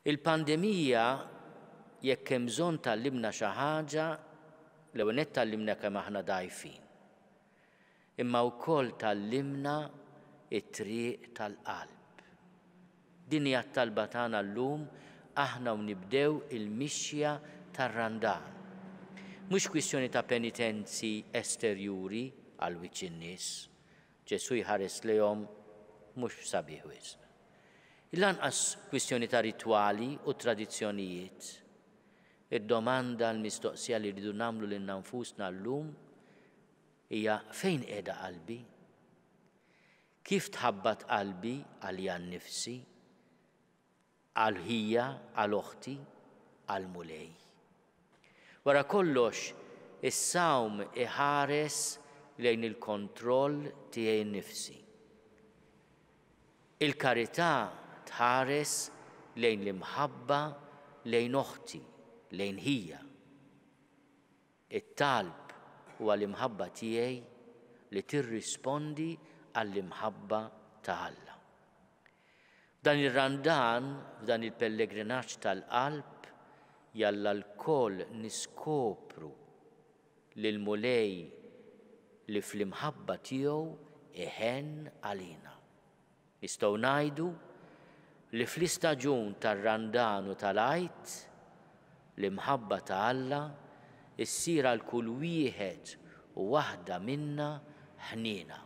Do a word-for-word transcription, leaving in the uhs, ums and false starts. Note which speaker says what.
Speaker 1: Il-pandemija, jekk hemm bżonn tgħallimna xi ħaġa, l-ewwel nett tgħallimna kemm aħna dgħajfin. Imma wkoll tgħallimna t-triq tal-qalb. Din hija t-talba tagħna llum aħna u nibdew il-mixja tar-Randan. Mhux kwistjoni ta' penitenzi esterjuri għal wiċċ in-nies. Ġesù jħares lejhom mhux sabiħ wisq. Lanqas kwistjoni ta' ritwali u tradizzjonijiet. Id-domanda, l-mistoqsija li rridu nagħmlu lilna nfusna llum hija: fejn qiegħda qalbi? Kif tħabbat qalbi għalija nnifsi, għal ħija, għal oħti, għal Mulej? Wara kollox, is-sawm iħares lejn il-kontroll tiegħi nnifsi. Il-karità tħares lejn l-imħabba lejn oħti, lejn ħija. It-talb huwa l-imħabba tiegħi li tirrispondi għall-imħabba ta' Alla. F'dan ir-Randan, f'dan il-pellegrinaġġ tal-qalb, jalla lkoll niskopru lill-Mulej li fl-imħabba tiegħu iħenn għalina. Nistgħu ngħidu li fl-istaġun tar-Randan u tal-Għid, l-imħabba ta' Alla issir għal kull wieħed u waħda minna ħniena.